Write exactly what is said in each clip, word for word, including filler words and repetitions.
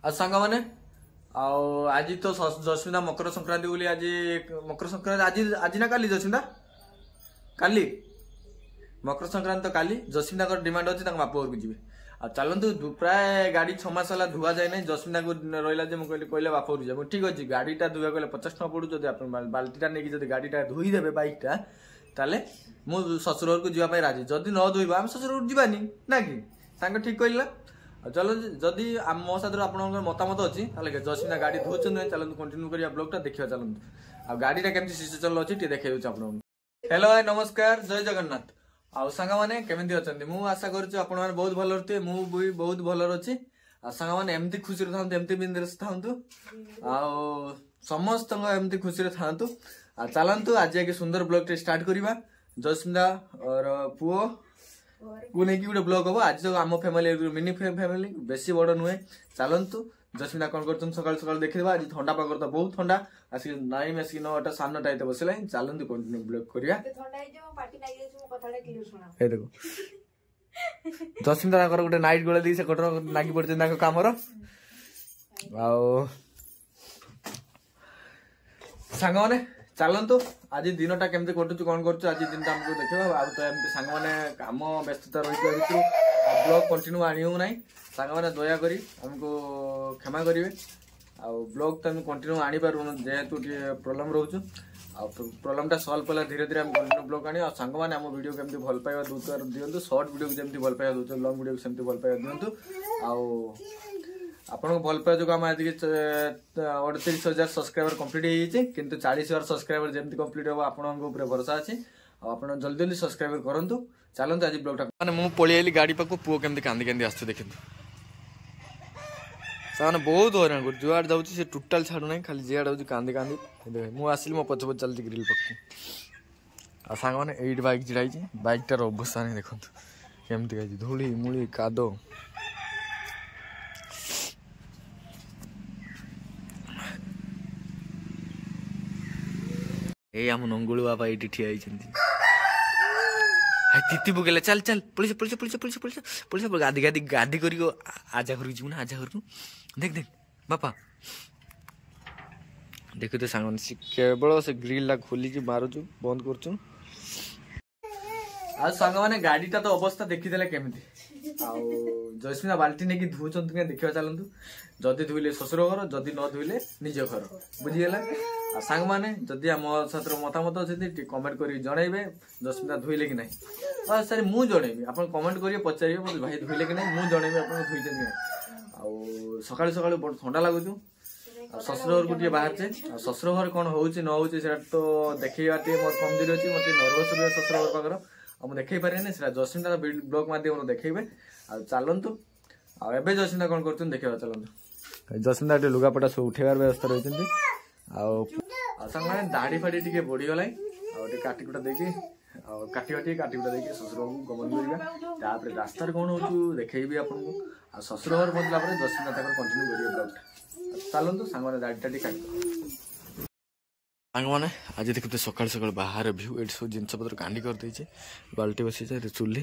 ଆଉ ସାଙ୍ଗମାନେ ଆଉ ଆଜି ତ ଜସ୍ମିତା ମକର ସଂକ୍ରାନ୍ତି ବୋଲି ଆଜି ମକର ସଂକ୍ରାନ୍ତି ଆଜି ଆଜି ନା କାଲି ଜସ୍ମିତା କାଲି ମକର ସଂକ୍ରାନ୍ତି ତ କାଲି ଜସ୍ମିତାଙ୍କର ଡିମାଣ୍ଡ ଅଛି ତାଙ୍କ ବାପ ଘରକୁ ଯିବେ ଆଉ ଚାଲନ୍ତୁ ପ୍ରାୟ ଗାଡ଼ି ଛଅ ମାସ ହେଲା ଧୁଆ ଯାଏ ନାହିଁ ଜସ୍ମିତାକୁ ରହିଲା ଯେ ମୁଁ କହିଲି କହିଲେ ବାପ ଘରକୁ ଯିବା ଠିକ୍ ଅଛି ଗାଡ଼ିଟା ଧୋଇବାକୁ ଗଲେ ପଚାଶ ଟଙ୍କା ପଡ଼ୁଛି ଯଦି ଆପଣ ବାଲ୍ଟିଟା ନେଇକି ଯଦି ଗାଡ଼ିଟା ଧୋଇଦେବେ ବାଇକଟା ତାହେଲେ ମୁଁ ଶ୍ୱଶୁର ଘରକୁ ଯିବା ପାଇଁ ରାଜି ଯଦି ନ ଧୋଇବା ଆମେ ଶ୍ୱଶୁର ଘରକୁ ଯିବାନି ନା କି ସାଙ୍ଗ ଠିକ୍ କହିଲା ଆଉ ଚାଲ ଯଦି ମୋ ସାଥିରେ ଆପଣଙ୍କର ମତାମତ ଅଛି ତାହେଲେ ଜସ୍ମିତା ଗାଡ଼ି ଧୋଉଛନ୍ତି ଚାଲନ୍ତୁ କଣ୍ଟିନ୍ୟୁ କରିବା ବ୍ଲଗ୍ଟା ଦେଖିବା ଚାଲନ୍ତୁ ଆଉ ଗାଡ଼ିଟା କେମିତି ସିଚୁଏସନ୍ ଅଛି ଟିକେ ଦେଖେଇ ଦେଉଛି ଆପଣଙ୍କୁ ହ୍ୟାଲୋ ଭାଇ ନମସ୍କାର ଜୟ ଜଗନ୍ନାଥ ଆଉ ସାଙ୍ଗମାନେ କେମିତି ଅଛନ୍ତି ମୁଁ ଆଶା କରୁଛି ଆପଣମାନେ ବହୁତ ଭଲରେ ଥିବେ ମୁଁ ବି ବହୁତ ଭଲରେ ଅଛି ଆଉ ସାଙ୍ଗମାନେ ଏମିତି ଖୁସିରେ ଥାନ୍ତୁ ଏମିତି ବିନ୍ଦାସ ଥାନ୍ତୁ ଆଉ ସମସ୍ତଙ୍କ ଏମିତି ଖୁସିରେ ଥାନ୍ତୁ ଆଉ ଚାଲନ୍ତୁ ଆଜି ଏକ ସୁନ୍ଦର ବ୍ଲଗ୍ଟେ ଷ୍ଟାର୍ଟ କରିବା ଜସ୍ମିତା ପୁଅ କୁ ନେଇକି ଗୋଟେ ବ୍ଲଗ ହବ ଆଜି ତ ଆମ ଫ୍ୟାମିଲି ମିନି ଫ୍ୟାମିଲି ବେଶୀ ବଡ ନୁହେଁ ଚାଲନ୍ତୁ ଜସ୍ମିତା କଣ କରୁଛନ୍ତି ସକାଳୁ ସକାଳୁ ଦେଖିଦେବା ଆଜି ଥଣ୍ଡା ପାଗରେ ତ ବହୁତ ଥଣ୍ଡା ଆସିକି ନାଇନ୍ ଆସିକି ନଅଟା ସାଢ଼େ ନଅଟା ହେଇତେ ବସିଲାଣି ଚାଲନ୍ତୁ କଣ୍ଟିନ୍ୟୁ ବ୍ଲଗ କରିବା ଏ ଦେଖ ଜସ୍ମିତା ତାଙ୍କର ଗୋଟେ ନାଇଟ୍ ଗୋଳେଇ ଦେଇକି ସେ କଟର ଲାଗି ପଡିଛନ୍ତି ତାଙ୍କ କାମର ଆଉ ସାଙ୍ଗମାନେ ଚାଲନ୍ତୁ ଆଜି ଦିନଟା କେମିତି କଟୁଛି କଣ କରୁଛୁ ଆଜି ଦିନଟା ଆମକୁ ଦେଖିବା ଆଉ ତ ଏମିତି ସାଙ୍ଗମାନେ କାମ ବ୍ୟସ୍ତତା ରହିଥିବା ଭିତରୁ ବ୍ଲଗ କଣ୍ଟିନ୍ୟୁ ଆଣିବୁ ନାହିଁ ସାଙ୍ଗମାନେ ଦୟାକରି ଆମକୁ କ୍ଷମା କରିବେ ଆଉ ବ୍ଲଗ ତ ଆମେ କଣ୍ଟିନ୍ୟୁ ଆଣିପାରୁନୁ ଯେହେତୁ ଟିକେ ପ୍ରୋବ୍ଲେମ୍ ରହୁଛୁ ଆଉ ପ୍ରୋବ୍ଲେମଟା ସଲ୍ଭ କଲା ଧୀରେ ଧୀରେ ଆମେ କଣ୍ଟିନ୍ୟୁ ବ୍ଲଗ ଆଣିବା ଆଉ ସାଙ୍ଗମାନେ ଆମ ଭିଡ଼ିଓ କେମିତି ଭଲ ପାଇବା ଦେଉଥିବାର ଦିଅନ୍ତୁ ସର୍ଟ ଭିଡ଼ିଓକୁ ଯେମିତି ଭଲ ପାଇବା ଦେଉଛନ୍ତି ଲଙ୍ଗ ଭିଡ଼ିଓକୁ ସେମିତି ଭଲ ପାଇବା ଦିଅନ୍ତୁ ଆଉ ଆପଣଙ୍କ ଭଲ ପାଇବା ଯୋଗୁଁ ଆମେ ଆଜିକି ଅଠତିରିଶ ହଜାର ସବସ୍କ୍ରାଇବର କମ୍ପ୍ଲିଟ୍ ହେଇଯାଇଛି କିନ୍ତୁ ଚାଳିଶ ହଜାର ସବସ୍କ୍ରାଇବର ଯେମିତି କମ୍ପ୍ଲିଟ୍ ହେବ ଆପଣଙ୍କ ଉପରେ ଭରସା ଅଛି ଆଉ ଆପଣ ଜଲ୍ଦି ଜଲ୍ଦି ସବସ୍କ୍ରାଇବର କରନ୍ତୁ ଚାଲନ୍ତୁ ଆଜି ବ୍ଲଗଟା ମାନେ ମୁଁ ପଳେଇ ଆଇଲି ଗାଡ଼ି ପାଖକୁ ପୁଅ କେମିତି କାନ୍ଦି କାନ୍ଦି ଆସୁଛି ଦେଖନ୍ତୁ ସେମାନେ ବହୁତ ହଇରାଣ କରୁଛି ଯୁଆଡ଼େ ଯାଉଛି ସେ ଟୋଟାଲ ଛାଡ଼ୁନାହିଁ ଖାଲି ଯିଆଡ଼େ ଯାଉଛି କାନ୍ଦି କାନ୍ଦି ମୁଁ ଆସିଲି ମୋ ପଛ ପଛ ଚାଲିଛି ଗ୍ରିଲ୍ ପାଖକୁ ଆଉ ସାଙ୍ଗମାନେ ଏଇଠି ବାଇକ୍ ଛିଡ଼ା ହେଇଛି ବାଇକ୍ଟାର ଅବସ୍ଥା ନାହିଁ ଦେଖନ୍ତୁ କେମିତି ହେଇଛି ଧୂଳି ମୂଳି କାଦ ଏଇ ଆମ ନଙ୍ଗୁଳୁ ବାବା ଏଇଠି ଠିଆ ହେଇଛନ୍ତି ତିତି ପକେଇଲା ଚାଲ ଚାଲ ପଳିସ ପଳିସ ପଳିସ ପଳିସ ପଳିସ ପଳିସ ଗାଧି ଗାଧି ଗାଧି କରିକି ଆଜା ଘରକୁ ଯିବୁ ନା ଆଜା ଘରକୁ ଦେଖ ଦେଖ ବାପା ଦେଖୁ ତ ସାଙ୍ଗମାନେ ସେ କେବଳ ସେ ଗ୍ରିଲଟା ଖୋଲିକି ମାରୁଛୁ ବନ୍ଦ କରୁଛୁ ଆଉ ସାଙ୍ଗମାନେ ଗାଡ଼ିଟା ତ ଅବସ୍ଥା ଦେଖିଦେଲେ କେମିତି ଆଉ ଜୟସ୍ମିତା ବାଲ୍ଟି ନେଇକି ଧୋଉଛନ୍ତି କାଇଁ ଦେଖିବା ଚାଲନ୍ତୁ ଯଦି ଧୋଇଲେ ଶ୍ୱଶୁର ଘର ଯଦି ନ ଧୋଇଲେ ନିଜ ଘର ବୁଝିଗଲା ଆଉ ସାଙ୍ଗମାନେ ଯଦି ଆମ ସାଥିରେ ମତାମତ ଅଛନ୍ତି ଟିକେ କମେଣ୍ଟ କରିକି ଜଣେଇବେ ଜସ୍ମିତା ଧୋଇଲେ କି ନାହିଁ ସାର୍ ମୁଁ ଜଣେଇବି ଆପଣ କମେଣ୍ଟ କରିବେ ପଚାରିବେ ମୋତେ ଭାଇ ଧୋଇଲେ କି ନାହିଁ ମୁଁ ଜଣେଇବି ଆପଣ ଧୋଇଛନ୍ତି କି ନାହିଁ ଆଉ ସକାଳୁ ସକାଳୁ ବଡ଼ ଥଣ୍ଡା ଲାଗୁଛୁ ଆଉ ଶ୍ୱଶୁର ଘରକୁ ଟିକେ ବାହାରିଛେ ଆଉ ଶ୍ୱଶୁର ଘରେ କ'ଣ ହଉଛି ନ ହଉଛି ସେଇଟା ତ ଦେଖେଇବା ଟିକେ ମୋର କମଜୋରି ଅଛି ମୋତେ ଟିକେ ନର୍ଭସ୍ ରୁହେ ଶ୍ୱଶୁର ଘର ପାଖର ଆଉ ମୁଁ ଦେଖେଇ ପାରିବିନି ସେଇଟା ଜସ୍ମିତା ବ୍ଲଗ ମାଧ୍ୟମରେ ଦେଖେଇବେ ଆଉ ଚାଲନ୍ତୁ ଆଉ ଏବେ ଜସ୍ମିତା କ'ଣ କରୁଛନ୍ତି ଦେଖିବା ଚାଲନ୍ତୁ ଜସ୍ମିତା ଟିକେ ଲୁଗାପଟା ସବୁ ଉଠେଇବାର ବ୍ୟବସ୍ଥା ରହିଛନ୍ତି ଆଉ ଆଉ ସାଙ୍ଗମାନେ ଦାଢ଼ି ଫାଡ଼ି ଟିକେ ବଢ଼ିଗଲାଣି ଆଉ ଟିକେ କାଟି କୁଟା ଦେଇକି ଆଉ କାଟିବା ଟିକେ କାଟି କୁଟା ଦେଇକି ଶ୍ୱଶୁରକୁ ଗମନ କରିବା ତାପରେ ରାସ୍ତାରେ କ'ଣ ହଉଛୁ ଦେଖେଇବି ଆପଣଙ୍କୁ ଆଉ ଶ୍ୱଶୁର ଘର ପହଞ୍ଚିଲା ପରେ ଜସ୍ମିତା ତାଙ୍କର କଣ୍ଟିନ୍ୟୁ କରିବେ ବ୍ଲଗଟା ଚାଲନ୍ତୁ ସାଙ୍ଗମାନେ ଦାଢ଼ିଟା ଟିକେ କାଟି ସାଙ୍ଗମାନେ ଆଜି ଦେଖୁଥିବେ ସକାଳୁ ସକାଳୁ ବାହାର ଭ୍ୟୁ ଏଠି ସବୁ ଜିନିଷପତ୍ର କାଣ୍ଡି କରିଦେଇଛି ବାଲ୍ଟି ବସିଛି ଏଠି ଚୁଲି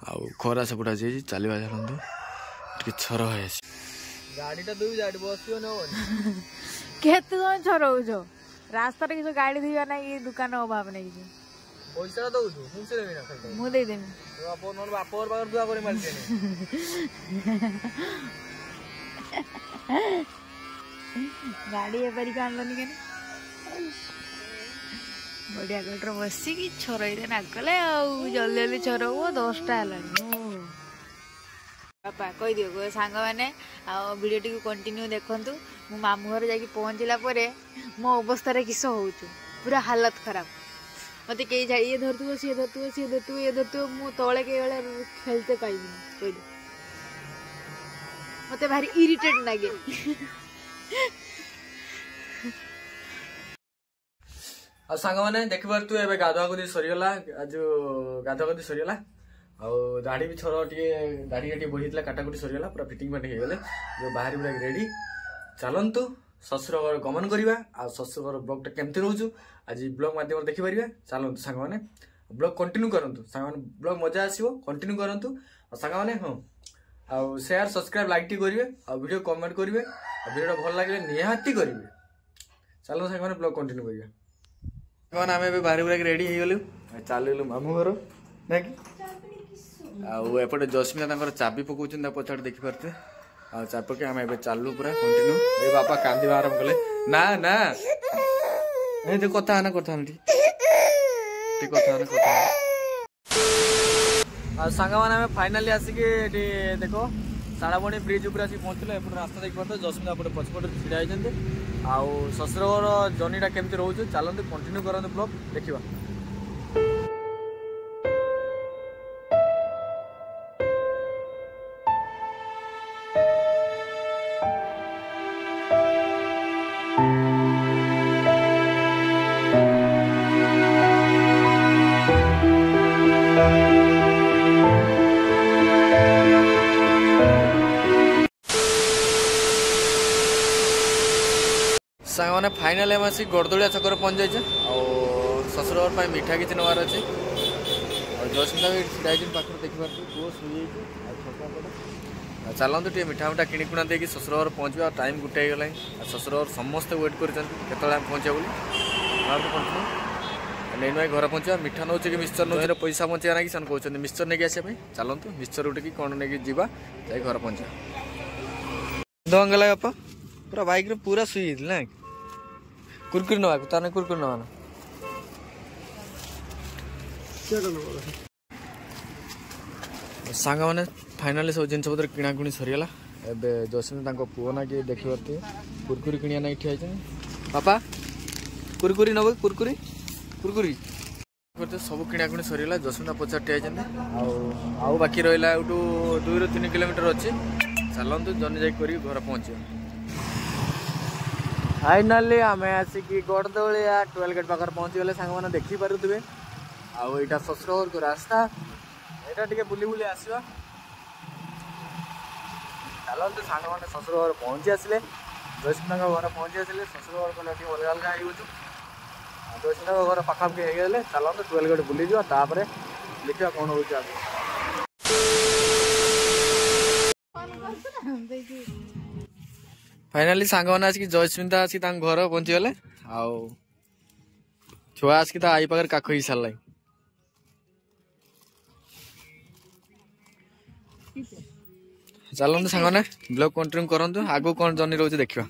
ଆଉ ଖରା ସେପଟେ ଆଜି ହେଇଛି ଚାଲିବା ଚାଲନ୍ତୁ ଟିକେ ଛର ହେଇଛି ଗାଡ଼ିଟା ଧୋଇବି ଗାଡ଼ି ବସିବ ନା କେତେ ଜଣ ଛରଉଛ ରାସ୍ତାରେ କିଛି ଗାଡ଼ି ଧୋଇବା ନାହିଁ ଦୋକାନ ଅଭାବ ନାହିଁ କିଛି ପଇସାଟା ଦଉଛୁ ମୁଁ ସେ ଦେବି ନା ମୁଁ ଦେଇଦେବି ବାପ ନହେଲେ ବାପ ଘର ପାଖରେ ଧୁଆ କରି ମାରିଦେନି ଗାଡ଼ି ଏପାରିକି ଆଣିଲନି କେନେ ବଢିଆ ଗାଡ଼ିରେ ବସିକି ଛରଇରେ ନାଗଲେ ଆଉ ଜଲ୍ଦି ଜଲ୍ଦି ଛରଉ ଦଶଟା ହେଲାଣି ବାପା କହିଦିଅ କୁହ ସାଙ୍ଗମାନେ ଆଉ ଭିଡ଼ିଓଟିକୁ କଣ୍ଟିନ୍ୟୁ ଦେଖନ୍ତୁ ମୁଁ ମାମୁଁ ଘରେ ଯାଇକି ପହଞ୍ଚିଲା ପରେ ମୋ ଅବସ୍ଥାରେ କିସ ହଉଛୁ ପୁରା ହାଲତ ଖରାପ ମୋତେ କେହି ଯାଇ ଇଏ ଧରୁଥିବ ସିଏ ଧରୁଥିବ ସିଏ ଧରୁଥିବ ଇଏ ଧରୁଥିବ ମୁଁ ତଳେ କେହି ବେଳେ ଖେଳିତେ ପାଇବିନି କହିଲି ମୋତେ ଭାରି ଇରିଟେଟ୍ ଲାଗେ ଆଉ ସାଙ୍ଗମାନେ ଦେଖିପାରୁଥିବେ ଏବେ ଗାଧୁଆ ଗୁଧି ସରିଗଲା ଯୋଉ ଗାଧୁଆ ଗୁଧି ସରିଗଲା ଆଉ ଦାଢ଼ି ବି ଛର ଟିକେ ଦାଢ଼ି ଟିକେ ବଢ଼ିଥିଲା କାଟାକୁଟି ସରିଗଲା ପୁରା ଫିଟିଂ ଫାଟିଂ ହେଇଗଲେ ଯୋଉ ବାହାରି ପୁରା ରେଡି ଚାଲନ୍ତୁ ଶ୍ୱଶୁର ଘର ଗମନ କରିବା ଆଉ ଶ୍ୱଶୁର ଘର ବ୍ଲଗଟା କେମିତି ରହୁଛୁ ଆଜି ବ୍ଲଗ ମାଧ୍ୟମରେ ଦେଖିପାରିବା ଚାଲନ୍ତୁ ସାଙ୍ଗମାନେ ବ୍ଲଗ କଣ୍ଟିନ୍ୟୁ କରନ୍ତୁ ସାଙ୍ଗମାନେ ବ୍ଲଗ ମଜା ଆସିବ କଣ୍ଟିନ୍ୟୁ କରନ୍ତୁ ଆଉ ସାଙ୍ଗମାନେ ହଁ ଆଉ ସେୟାର ସବସ୍କ୍ରାଇବ୍ ଲାଇକ୍ ଟିକେ କରିବେ ଆଉ ଭିଡ଼ିଓ କମେଣ୍ଟ କରିବେ ଆଉ ଭିଡ଼ିଓଟା ଭଲ ଲାଗିଲେ ନିହାତି କରିବେ ଚାଲନ୍ତୁ ସାଙ୍ଗମାନେ ବ୍ଲଗ୍ କଣ୍ଟିନ୍ୟୁ କରିବା ସାଙ୍ଗମାନେ ଆମେ ଏବେ ବାହାରି ବୁରାକି ରେଡ଼ି ହେଇଗଲୁ ଚାଲିଲୁ ମାମୁଁ ଘର ନାଇଁ କି ଆଉ ଏପଟେ ଜସ୍ମିତା ତାଙ୍କର ଚାବି ପକଉଛନ୍ତି ତା ପଛଆଡ଼େ ଦେଖିପାରୁଥିବେ ଆଉ ଚାବି ପକେଇ ଆମେ ଏବେ ଚାଲୁ ପୁରା କଣ୍ଟିନ୍ୟୁ ଏ ବାପା କାନ୍ଦିବା ଆରମ୍ଭ କଲେ ନା ନା ଏ ତ କଥା ନା କଥା ନା ଟିକେ କଥା ନା କଥା ଆଉ ସାଙ୍ଗମାନେ ଆମେ ଫାଇନାଲି ଆସିକି ଏଠି ଦେଖ ଶାଳବଣି ବ୍ରିଜ୍ ଉପରେ ଆସିକି ପହଞ୍ଚିଲୁ ଏପଟେ ରାସ୍ତା ଦେଖିପାରୁଥିବେ ଜସ୍ମିତା ଏପଟେ ପଛପଟେ ଛିଡ଼ା ହେଇଛନ୍ତି ଆଉ ଶ୍ୱଶୁର ଘର ଜର୍ଣ୍ଣିଟା କେମିତି ରହୁଛି ଚାଲନ୍ତୁ କଣ୍ଟିନ୍ୟୁ କରନ୍ତୁ ବ୍ଲଗ୍ ଦେଖିବା ସାଙ୍ଗମାନେ ଫାଇନାଲି ଆମେ ଆସିକି ଗଡ଼ଦଳିଆ ଛକରେ ପହଞ୍ଚି ଯାଇଛେ ଆଉ ଶ୍ୱଶୁର ଘର ପାଇଁ ମିଠା କିଛି ନେବାର ଅଛି ଆଉ ଜୟସ୍ମିତା ବି ଛିଡ଼ା ହେଇଛନ୍ତି ପାଖରେ ଦେଖିପାରୁଛୁ ପୁଅ ଶୋଇଯାଇଛି ଆଉ ଛକ ପଟେ ଆଉ ଚାଲନ୍ତୁ ଟିକେ ମିଠା ମିଠା କିଣି କୁଣା ଦେଇକି ଶ୍ୱଶୁର ଘର ପହଞ୍ଚିବା ଆଉ ଟାଇମ୍ ଗୋଟେ ହେଇଗଲାଣି ଆଉ ଶ୍ୱଶୁର ଘର ସମସ୍ତେ ୱେଟ୍ କରିଛନ୍ତି କେତେବେଳେ ଆମେ ପହଞ୍ଚିବା ବୋଲି ବାହାରକୁ ପହଞ୍ଚିବୁ ନେଇ ନୁଆଇ ଘରେ ପହଞ୍ଚିବା ମିଠା ନେଉଛି କି ମିକ୍ସଚର ନେଉଛି ପଇସା ବଞ୍ଚିବା ନାକି ସେମାନେ କହୁଛନ୍ତି ମିକ୍ସଚର ନେଇକି ଆସିବା ପାଇଁ ଚାଲନ୍ତୁ ମିକ୍ସଚର ଗୋଟେ କି କ'ଣ ନେଇକି ଯିବା ଯାଇ ଘରେ ପହଞ୍ଚିବା ଦଙ୍ଗଲା ବାପା ପୁରା ବାଇକ୍ରେ ପୁରା ଶୋଇ ଯାଇଥିଲି ନା କୁରକୁରି ନେବାକୁ ତାହେଲେ କୁରକୁରି ନେବା ନା ସାଙ୍ଗମାନେ ଫାଇନାଲି ସବୁ ଜିନିଷପତ୍ର କିଣାକିଣି ସରିଗଲା ଏବେ ଜସିନ ତାଙ୍କ ପୁଅ ନା କିଏ ଦେଖିପାରୁଥିବେ କୁରକୁରି କିଣିବା ନାକି ଠିଆ ହେଇଛନ୍ତି ବାପା କୁରକୁରି ନେବ କୁରକୁରି କୁରକୁରି ସବୁ କିଣାକିଣି ସରିଗଲା ଜସିନ୍ଦା ପଚାର ଠିଆ ହେଇଛନ୍ତି ଆଉ ଆଉ ବାକି ରହିଲା ଏଇଠୁ ଦୁଇରୁ ତିନି କିଲୋମିଟର ଅଛି ଚାଲନ୍ତୁ ଜର୍ଣ୍ଣି ଯାଇକି କରିକି ଘରେ ପହଞ୍ଚିବା ଫାଇନାଲି ଆମେ ଆସିକି ଗଡ଼ଦଳିଆ ଟୁଏଲ୍ ଗେଟ୍ ପାଖରେ ପହଞ୍ଚିଗଲେ ସାଙ୍ଗମାନେ ଦେଖିପାରୁଥିବେ ଆଉ ଏଇଟା ଶ୍ୱଶୁର ଘରକୁ ରାସ୍ତା ଏଇଟା ଟିକେ ବୁଲି ବୁଲି ଆସିବା ଚାଲନ୍ତୁ ସାଙ୍ଗମାନେ ଶ୍ୱଶୁର ଘର ପହଞ୍ଚି ଆସିଲେ ଜୟସିଂଙ୍କ ଘର ପହଞ୍ଚି ଆସିଲେ ଶ୍ୱଶୁର ଘର ଗଲେ ଟିକେ ଅଲଗା ଅଲଗା ହେଇଯାଉଛୁ ଜୟସିଂଙ୍କ ଘର ପାଖାପାଖି ହେଇଗଲେ ଚାଲନ୍ତୁ ଟୁଏଲ୍ ଗେଟ୍ ବୁଲିଯିବା ତାପରେ ଦେଖିବା କ'ଣ ହେଉଛି ଆଗକୁ ଫାଇନାଲି ସାଙ୍ଗମାନେ ଆସିକି ଜୟସ୍ମିତା ଆସିକି ତାଙ୍କ ଘର ପହଞ୍ଚିଗଲେ ଆଉ ଛୁଆ ଆସିକି ତା I ପାଖରେ କାଖ ହେଇ ସାରିଲାଣି ଚାଲନ୍ତୁ ସାଙ୍ଗମାନେ ବ୍ଲଗ୍ କଣ୍ଟିନ୍ୟୁ କରନ୍ତୁ ଆଗକୁ କ'ଣ ଜର୍ଣ୍ଣି ରହୁଛି ଦେଖିବା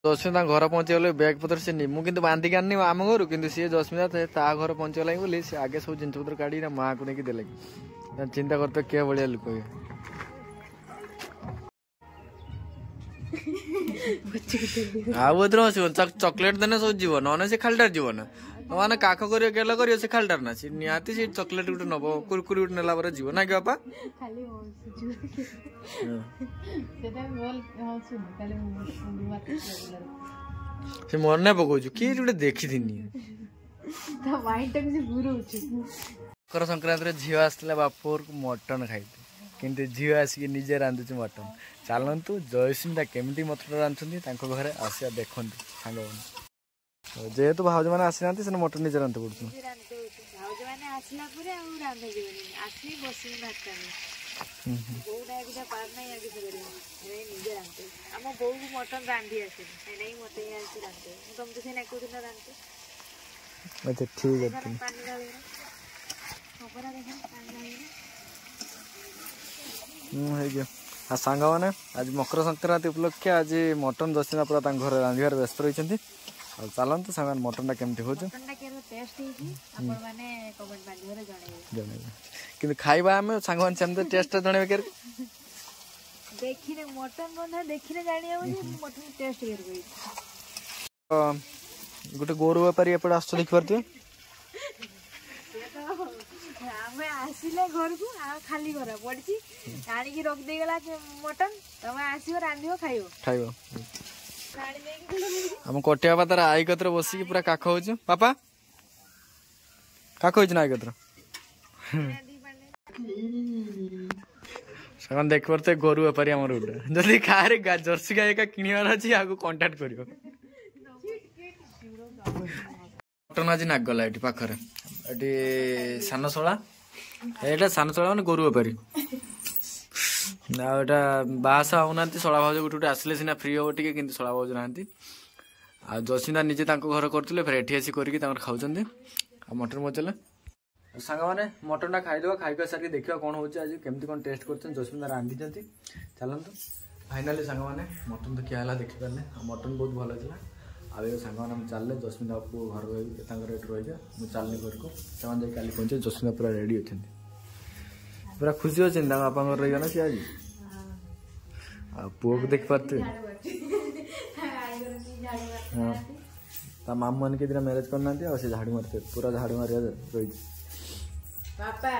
ଜସ୍ମିତା ତାଙ୍କ ଘର ପହଞ୍ଚିଗଲେ ବ୍ୟାଗ୍ ପତ୍ର ସେ ମୁଁ କିନ୍ତୁ ବାନ୍ଧିକି ଆଣିନି ଆମ ଘରୁ କିନ୍ତୁ ସିଏ ଜସ୍ମିତା ତା ଘର ପହଞ୍ଚିଗଲାଣି ବୋଲି ସେ ଆଗେ ସବୁ ଜିନିଷପତ୍ର କାଢ଼ିକି ମାଆକୁ ନେଇକି ଦେଲେ ଚିନ୍ତା କରୁଥିବେ କିଏ ଭଳିଆ ଲୋକ ଇଏ ଆଉ ଏଥିରେ ଆସିବ ଚକୋଲେଟ ଦେନେ ସବୁ ଯିବ ନହେଲେ ସେ ଖାଲିଟାରେ ଯିବ ନା ମାନେ କାଖ କରିବ ଗେଲ କରିବ ସେ ଖାଲିଟାରେ ନା ସେ ନିହାତି ସେ ଚକୋଲେଟ ଗୋଟେ ନବ କୁରକୁରି ଗୋଟେ ନେଲା ପରେ ଯିବ ନା କି ବାପା ସେ ମନେ ପକଉଛୁ କିଏ ଗୋଟେ ଦେଖିଥିନି ମକର ସଂକ୍ରାନ୍ତିରେ ଝିଅ ଆସିଥିଲା ବାପ ଘରକୁ ମଟନ ଖାଇତେ କିନ୍ତୁ ଝିଅ ଆସିକି ନିଜେ ରାନ୍ଧୁଛି ମଟନ ଚାଲନ୍ତୁ ଜୟସ୍ମିତା କେମିତି ମଟନ ରାନ୍ଧୁଛନ୍ତି ତାଙ୍କ ଘରେ ଆସିବା ଦେଖନ୍ତୁ ସାଙ୍ଗମାନେ ଯେହେତୁ ଭାଉଜମାନେ ଆସିନାହାନ୍ତି ସେ ମଟନ ନିଜେ ରାନ୍ଧି ପଡୁଛୁ ଭାଉଜମାନେ ଆସିଲା ପରେ ଆଉ ରାନ୍ଧା ଯିବନି ଆସିବି ବସିବି ଭାତ ବୋଉଟା ଏକୁଟିଆ ପାରୁନାହିଁ ଆଉ କିଛି କରିବ ସେଥିପାଇଁ ନିଜେ ରାନ୍ଧେ ଆମ ବୋଉକୁ ମଟନ ରାନ୍ଧି ଆସେନି ସେଥିପାଇଁ ମତେ ହିଁ ଆସି ରାନ୍ଧେ ମୁଁ ତମକୁ ସେଇନା କୋଉଦିନ ରାନ୍ଧେ ଆଚ୍ଛା ଠିକ୍ ଅଛି ପାଣି ଢାଳିନା ଖବର ଦେଖ ପାଣି ଢାଳିନା ହୁଁ ହେଇଯିବ ଆଉ ସାଙ୍ଗମାନେ ଆଜି ମକର ସଂକ୍ରାନ୍ତି ଉପଲକ୍ଷେ ଆଜି ମଟନ ଜସିନା ପୁରା ତାଙ୍କ ଘରେ ରାନ୍ଧିବାରେ ବ୍ୟସ୍ତ ରହିଛନ୍ତି ଆଉ ଚାଲନ୍ତୁ ସାଙ୍ଗମାନେ ମଟନଟା କେମିତି ହେଉଛି ମଟନଟା କେମିତି ଟେଷ୍ଟ ହେଇଛି ଆପଣମାନେ କମେଣ୍ଟ ମାଧ୍ୟମରେ ଜଣେଇବେ ଜଣେଇବେ କିନ୍ତୁ ଖାଇବା ଆମେ ସାଙ୍ଗମାନେ ସେମିତି ଟେଷ୍ଟଟା ଜଣେଇବେ କେମିତି ଦେଖିଲେ ମଟନ ବନ୍ଧା ଦେଖିଲେ ଜାଣି ହବ ଯେ ମଟନ ଟେଷ୍ଟ କେମିତି ହେଇଛି ଗୋଟେ ଗୋରୁ ବେପାରୀ ଏପଟେ ଆସୁଛ ଦେଖିପାରୁଥିବେ ଆମେ ଆସିଲେ ଘରକୁ ଆଉ ଖାଲି ଘର ପଡ଼ିଛି ଆଣିକି ରଖିଦେଇଗଲା ମଟନ ତମେ ଆସିବ ରାନ୍ଧିବ ଖାଇବ ଖାଇବ ଆମ କଟିଆ ବାପା ତାର I କତିରେ ବସିକି ପୁରା କାଖ ହଉଛୁ ବାପା କାଖ ହେଇଛି ନା I କତିରେ ସେମାନେ ଦେଖିପାରୁଥିବେ ଗୋରୁ ବେପାରୀ ଆମର ଗୋଟେ ଯଦି କାହାରି ଜର୍ସି ଗାଈ ଏକା କିଣିବାର ଅଛି ଆକୁ କଣ୍ଟାକ୍ଟ କରିବ ମଟନ ଆଜି ନାଗଲା ଏଠି ପାଖରେ ଏଠି ସାନଶଳା ଏଇଟା ସାନଶଳା ମାନେ ଗୋରୁ ବେପାରୀ ଆଉ ଏଇଟା ବାହାସାହା ହଉନାହାନ୍ତି, ଶଳା ଭାଉଜ ଗୋଟେ ଗୋଟେ ଆସିଲେ ସିନା ଫ୍ରି ହବ ଟିକେ, କିନ୍ତୁ ଶଳା ଭାଉଜ ନାହାନ୍ତି। ଆଉ ଜସିନ୍ଦା ନିଜେ ତାଙ୍କ ଘର କରୁଥିଲେ, ଫେର ଏଠି ଆସି କରିକି ତାଙ୍କର ଖାଉଛନ୍ତି। ଆଉ ମଟନ୍ ମଜା। ସାଙ୍ଗମାନେ, ମଟନ୍ଟା ଖାଇଦେବା, ଖାଇ ଖୁଆ ସାରିକି ଦେଖିବା କ'ଣ ହେଉଛି ଆଜି, କେମିତି କ'ଣ ଟେଷ୍ଟ କରୁଛନ୍ତି, ଜସ୍ମିତା ରାନ୍ଧିଛନ୍ତି। ଚାଲନ୍ତୁ। ଫାଇନାଲି ସାଙ୍ଗମାନେ, ମଟନ୍ ତ ଖିଆ ହେଲା, ଦେଖିପାରିଲେ। ଆଉ ମଟନ୍ ବହୁତ ଭଲ ହେଇଥିଲା। ଆଉ ଏବେ ସାଙ୍ଗମାନେ ଆମେ ଚାଲିଲେ, ଜସ୍ମିତା ପୁଅ ଘରେ ରହି ତାଙ୍କର ଏଠି ରହିବେ, ମୁଁ ଚାଲିଲି ଘରକୁ। ସେମାନେ ଯାଇ କାଲି ପହଞ୍ଚିବେ। ଜସ୍ମିତା ପୁରା ରେଡ଼ି ଅଛନ୍ତି, ପୁରା ଖୁସି ଅଛନ୍ତି, ତାଙ୍କ ବାପାଙ୍କର ରହିଗଲା ସିଏ ଆଜି। ଆଉ ପୁଅକୁ ଦେଖିପାରୁଥିବେ। ହଁ, ତା ମାମୁଁ ମାନେ କେତେଟା ମ୍ୟାରେଜ୍ କରିନାହାନ୍ତି, ଆଉ ସେ ଝାଡ଼ୁ ମାରିଥିବେ, ପୁରା ଝାଡ଼ୁ ମାରିବା ରହିଛି। ବାପା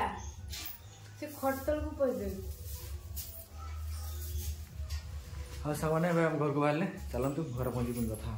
ସେ ଖଟ ତଳକୁ ପଶିଦେବେ। ହଁ ସାଙ୍ଗମାନେ, ଏବେ ଆମ ଘରକୁ ବାହାରିଲେ। ଚାଲନ୍ତୁ, ଘରେ ପହଞ୍ଚି ପୁଣି କଥା।